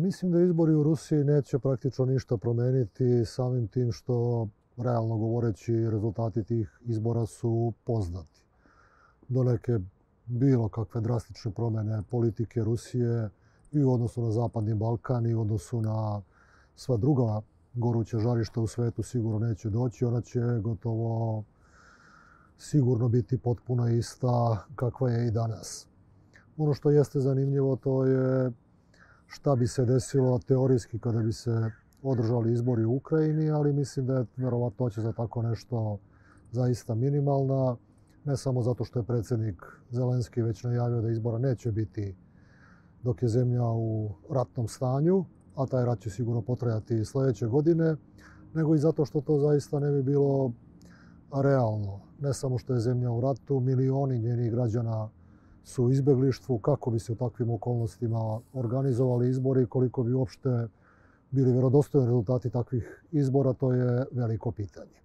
Mislim da izbori u Rusiji neće praktično ništa promeniti samim tim što, realno govoreći, rezultati tih izbora su poznati. Do neke bilo kakve drastične promjene politike Rusije i u odnosu na Zapadni Balkan i u odnosu na sva druga goruća žarišta u svetu sigurno neće doći. Ona će gotovo sigurno biti potpuno ista kakva je i danas. Ono što jeste zanimljivo to je šta bi se desilo teorijski kada bi se održali izbori u Ukrajini, ali mislim da je verovatnoća za tako nešto zaista minimalna. Ne samo zato što je predsjednik Zelenski već najavio da izbora neće biti dok je zemlja u ratnom stanju, a taj rat će sigurno potrajati i sljedeće godine, nego i zato što to zaista ne bi bilo realno. Ne samo što je zemlja u ratu, milioni njenih građana su u izbjeglištvu. Kako bi se u takvim okolnostima organizovali izbori, koliko bi uopšte bili vjerodostojni rezultati takvih izbora, to je veliko pitanje.